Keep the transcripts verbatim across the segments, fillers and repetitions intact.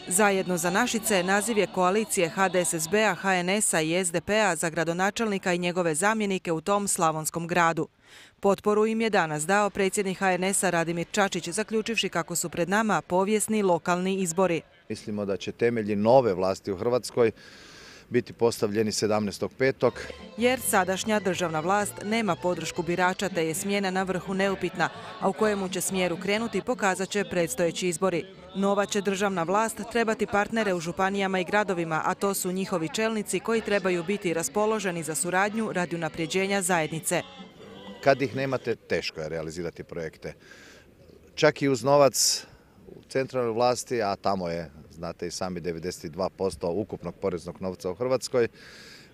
Zajedno za Našice naziv je koalicije H D S S B-a, H N S-a i S D P-a za gradonačelnika i njegove zamjenike u tom slavonskom gradu. Potporu im je danas dao predsjednik H N S-a Radimir Čačić, zaključivši kako su pred nama povijesni lokalni izbori. Mislimo da će temelji nove vlasti u Hrvatskoj biti postavljeni sedamnaestog petog Jer sadašnja državna vlast nema podršku birača te je smjena na vrhu neupitna, a u kojemu će smjeru krenuti pokazat će predstojeći izbori. Nova će državna vlast trebati partnere u županijama i gradovima, a to su njihovi čelnici koji trebaju biti raspoloženi za suradnju radi unapređenja zajednice. Kad ih nemate, teško je realizirati projekte. Čak i uz novac u centralnoj vlasti, a tamo je, znate i sami, devedeset dva posto ukupnog poreznog novca u Hrvatskoj,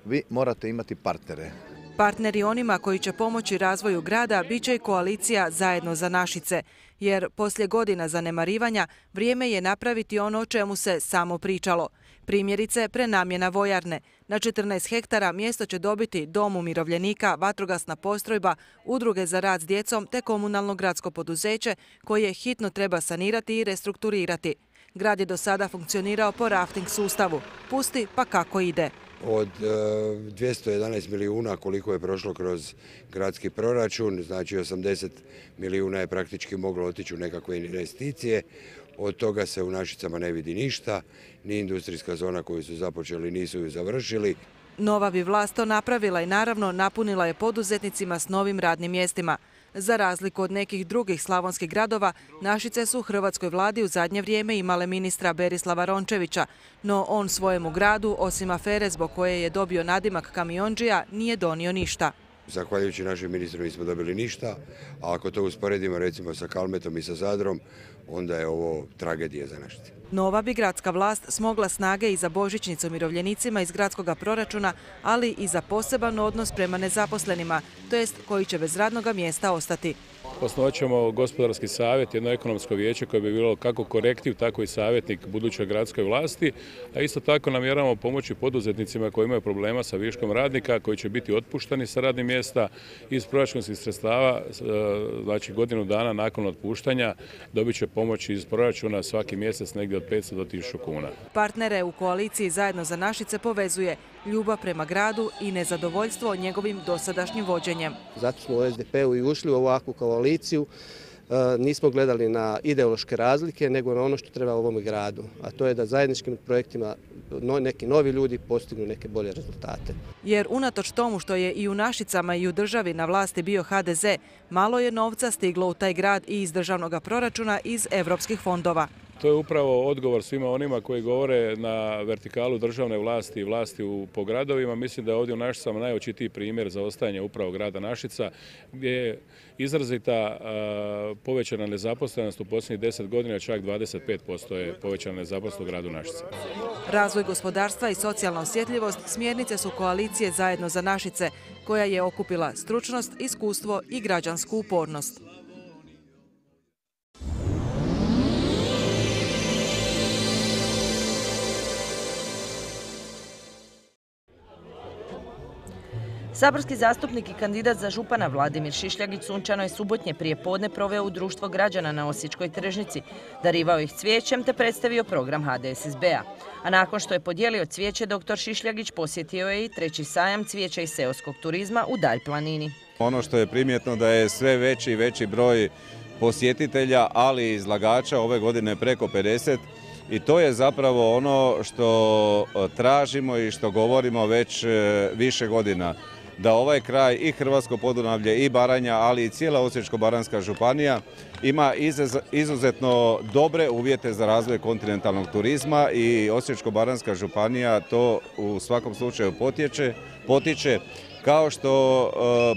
vi morate imati partnere. Partneri onima koji će pomoći razvoju grada bit će i koalicija Zajedno za Našice, jer poslije godina zanemarivanja vrijeme je napraviti ono o čemu se samo pričalo. Primjerice, prenamjena vojarne. Na četrnaest hektara mjesto će dobiti dom umirovljenika, vatrogasna postrojba, udruge za rad s djecom te komunalno gradsko poduzeće koje hitno treba sanirati i restrukturirati. Grad je do sada funkcionirao po rafting sustavu. Pusti pa kako ide. Od dvjesto jedanaest milijuna koliko je prošlo kroz gradski proračun, znači osamdeset milijuna je praktički moglo otići u nekakve investicije. Od toga se u Našicama ne vidi ništa, ni industrijska zona koju su započeli nisu ju završili. Nova bi vlast to napravila i naravno napunila je poduzetnicima s novim radnim mjestima. Za razliku od nekih drugih slavonskih gradova, Našice su u hrvatskoj vladi u zadnje vrijeme imale ministra Berislava Rončevića, no on svojemu gradu, osim afere zbog koje je dobio nadimak kamiondžija, nije donio ništa. Zahvaljujući našem ministru nismo dobili ništa, a ako to usporedimo recimo sa Kalmetom i sa Zadrom, onda je ovo tragedija za Našice. Nova bi gradska vlast smogla snage i za božićnicu umirovljenicima iz gradskog proračuna, ali i za poseban odnos prema nezaposlenima, to jest koji će bez radnog mjesta ostati. Osnovat ćemo gospodarski savjet, jedno ekonomsko vijeće koje bi bilo kako korektiv, tako i savjetnik budućoj gradskoj vlasti, a isto tako namjeravamo pomoći poduzetnicima koji imaju problema sa viškom radnika, koji će biti otpuštani sa radnih mjesta iz proračunskih sredstava, znači godinu dana nakon otpuštanja dobit će pomoć iz proračuna svaki mjesec negdje od petsto do tisuću kuna. Partnere u koaliciji Zajedno za Našice povezuje ljubav prema gradu i nezadovoljstvo njegovim dosadašnjim vođenjem. Zato smo u S D P-u i ušli u ovakvu koaliciju. Nismo gledali na ideološke razlike, nego na ono što treba ovome gradu, a to je da zajedničkim projektima neki novi ljudi postignu neke bolje rezultate. Jer unatoč tomu što je i u Našicama i u državi na vlasti bio H D Z, malo je novca stiglo u taj grad i iz državnog proračuna iz europskih fondova. To je upravo odgovor svima onima koji govore na vertikalu državne vlasti i vlasti po gradovima. Mislim da je ovdje u Našicama najočitiji primjer za ostajanje upravo grada Našica, gdje je izrazita povećana nezaposlenost u posljednjih deset godina, čak dvadeset pet posto je povećana nezaposlenost u gradu Našica. Razvoj gospodarstva i socijalna osjetljivost smjernice su koalicije Zajedno za Našice, koja je okupila stručnost, iskustvo i građansku upornost. Saborski zastupnik i kandidat za župana Vladimir Šišljagić sunčano je subotnje prije podne proveo u društvo građana na Osječkoj tržnici, darivao ih cvijećem te predstavio program H D S S B-a. A nakon što je podijelio cvijeće, doktor Šišljagić posjetio je i treći sajam cvijeća i seoskog turizma u Dalj planini. Ono što je primjetno da je sve veći i veći broj posjetitelja, ali i izlagača, ove godine preko pedeset. I to je zapravo ono što tražimo i što govorimo već više godina. Da ovaj kraj i Hrvatsko Podunavlje i Baranja, ali i cijela Osječko-baranjska županija ima izuzetno dobre uvjete za razvoj kontinentalnog turizma i Osječko-baranjska županija to u svakom slučaju potječe, potiče, kao što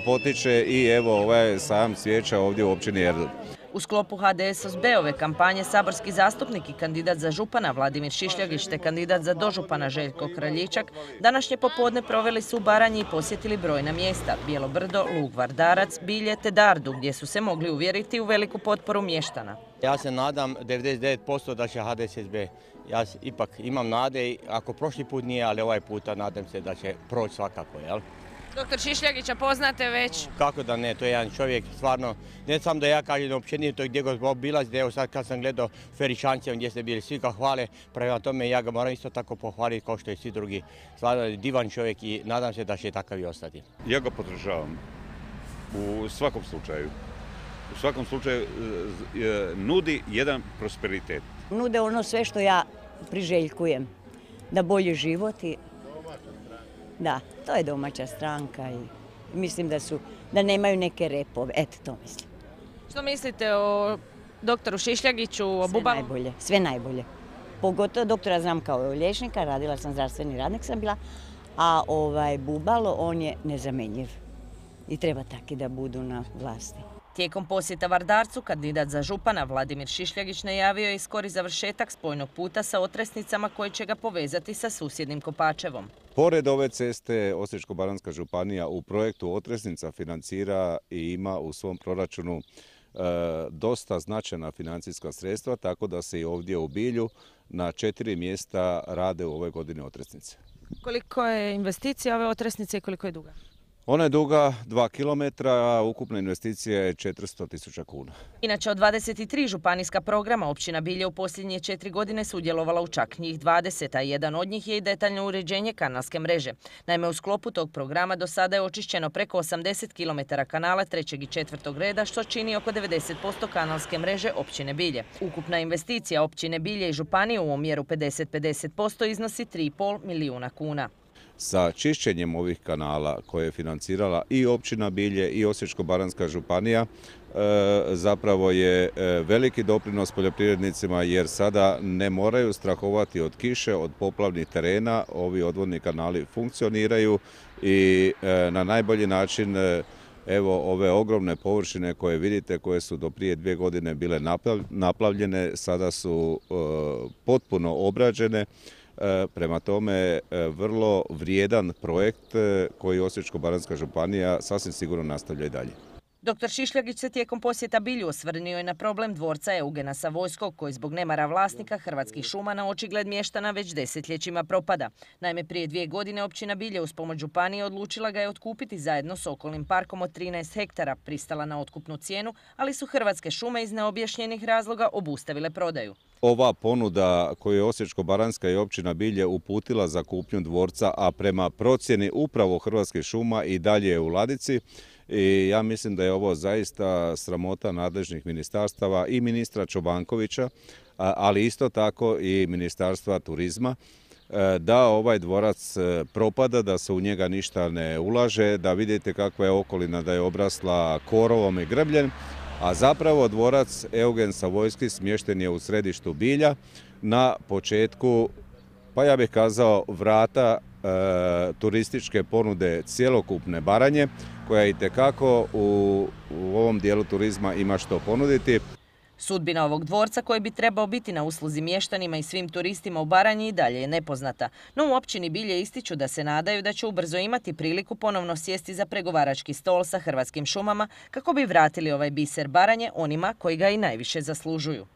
potiče i evo ovaj sajam cvijeća ovdje u općini Erdut. U sklopu H D S S B-ove kampanje saborski zastupnik i kandidat za župana Vladimir Šišljagić te kandidat za dožupana Željko Kraljičak današnje popodne proveli su u Baranji i posjetili brojna mjesta: Bijelo Brdo, Lug, Vardarac, Bilje te Dardu, gdje su se mogli uvjeriti u veliku potporu mještana. Ja se nadam devedeset devet posto da će H D S S B. Ja ipak imam nade, ako prošli put nije, ali ovaj puta nadam se da će proći svakako, jel? Doktor Šišljagića poznate već? Kako da ne, to je jedan čovjek, stvarno, ne samo da ja kažem općenito gdje god obilazite, evo sad kad sam gledao Feričancem gdje ste bili, svi ga hvale, prema tome ja ga moram isto tako pohvaliti kao što i svi drugi. Stvarno divan čovjek i nadam se da će takav i ostati. Ja ga podržavam u svakom slučaju. U svakom slučaju nudi jedan prosperitet. Nude ono sve što ja priželjkujem, da bolji život i... Da, to je domaća stranka i mislim da su, da nemaju neke repove, eto to mislim. Što mislite o doktoru Šišljagiću, o Bubalu? Sve najbolje, sve najbolje. Pogotovo doktora znam kao liječnika, radila sam, zdravstveni radnik sam bila, a ovaj Bubalo, on je nezamenjiv i treba taki da budu na vlasti. Tijekom posjeta Vardarcu, kandidat za župana Vladimir Šišljagić najavio je i skori završetak spojnog puta sa Otresnicama koji će ga povezati sa susjednim Kopačevom. Pored ove ceste, Osječko-baranjska županija u projektu Otresnica financira i ima u svom proračunu e, dosta značajna financijska sredstva, tako da se i ovdje u Bilju na četiri mjesta rade u ove godine Otresnice. Koliko je investicija ove Otresnice i koliko je duga? Ona je duga dva kilometra, a ukupna investicija je četiristo tisuća kuna. Inače, od dvadeset tri županijska programa općina Bilje u posljednje četiri godine sudjelovala u čak njih dvadeset, a jedan od njih je i detaljno uređenje kanalske mreže. Naime, u sklopu tog programa do sada je očišćeno preko osamdeset kilometara kanala trećeg i četvrtog reda, što čini oko devedeset posto kanalske mreže općine Bilje. Ukupna investicija općine Bilje i županije u omjeru pedeset pedeset posto iznosi tri i pol milijuna kuna. Sa čišćenjem ovih kanala koje je financirala i općina Bilje i Osječko-baranjska županija zapravo je veliki doprinos poljoprivrednicima jer sada ne moraju strahovati od kiše, od poplavnih terena. Ovi odvodni kanali funkcioniraju i na najbolji način evo ove ogromne površine koje vidite, koje su do prije dvije godine bile naplavljene, sada su potpuno obrađene. Prema tome, vrlo vrijedan projekt koji Osječko-baranjska županija sasvim sigurno nastavlja i dalje. Doktor Šišljagić se tijekom posjeta Bilju osvrnio je na problem dvorca Eugena Savojskog, koji zbog nemara vlasnika Hrvatskih šuma na očigled mještana već desetljećima propada. Naime, prije dvije godine općina Bilje uz pomoć županije odlučila ga je otkupiti zajedno s okolnim parkom od trinaest hektara, pristala na otkupnu cijenu, ali su Hrvatske šume iz neobjašnjenih razloga obustavile prodaju. Ova ponuda koju je Osječko-baranjska i općina Bilje uputila za kupnju dvorca, a prema procjeni upravo Hrvatskih šuma i dalje je u ladici, i ja mislim da je ovo zaista sramota nadležnih ministarstava i ministra Čobankovića, ali isto tako i Ministarstva turizma, da ovaj dvorac propada, da se u njega ništa ne ulaže, da vidite kakva je okolina, da je obrasla korovom i grbljem, a zapravo dvorac Eugen Savojski smješten je u središtu Bilja na početku, pa ja bih kazao, vrata e, turističke ponude cjelokupne Baranje, koja itekako u, u ovom dijelu turizma ima što ponuditi. Sudbina ovog dvorca koji bi trebao biti na usluzi mještanima i svim turistima u Baranji i dalje je nepoznata. No u općini Bilje ističu da se nadaju da će ubrzo imati priliku ponovno sjesti za pregovarački stol sa Hrvatskim šumama kako bi vratili ovaj biser Baranje onima koji ga i najviše zaslužuju.